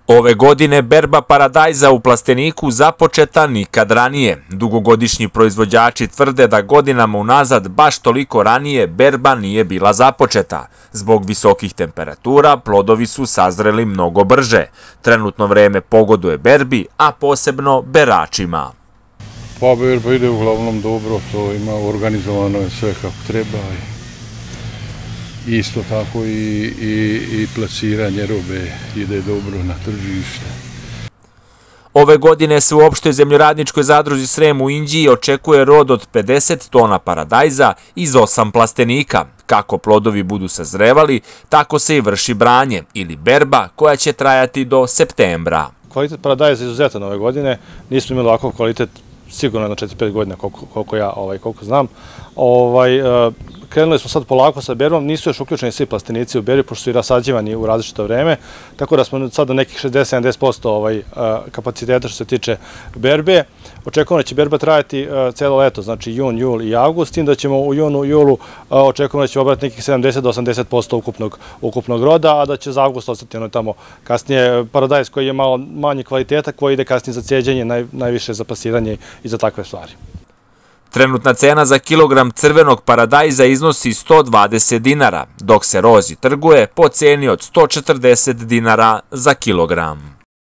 Ove godine berba paradajza u Plasteniku započeta nikad ranije. Dugogodišnji proizvođači tvrde da godinama unazad baš toliko ranije berba nije bila započeta. Zbog visokih temperatura plodovi su sazreli mnogo brže. Trenutno vreme pogoduje berbi, a posebno beračima. Pa berba ide uglavnom dobro, to ima organizovano je sve kako treba. Isto tako i plasiranje robe ide dobro na tržište. Ove godine se u opštoj zemljoradničkoj zadruzi Srem u Inđiji očekuje rod od 50 tona paradajza iz 8 plastenika. Kako plodovi budu sazrevali, tako se i vrši branje ili berba koja će trajati do septembra. Kvalitet paradajza je izuzetan ove godine. Nismo imali ovakav kvalitet sigurno na 4-5 godina koliko znam. Krenuli smo sad polako sa berbom, nisu još uključeni svi plastenici u berbi, pošto su i rasađivani u različito vreme, tako da smo sad na nekih 60-70% kapaciteta što se tiče berbe. Očekujemo da će berba trajati celo leto, znači jun, jul i avgust, s tim da ćemo u junu i julu očekujemo da ćemo obrati nekih 70-80% ukupnog roda, a da će za avgust ostati tamo kasnije paradajz koji je malo manje kvaliteta, koji ide kasnije za cijeđenje, najviše za plasiranje i za takve stvari. Trenutna cena za kilogram crvenog paradajza iznosi 120 dinara, dok se rozi trguje po ceni od 140 dinara za kilogram.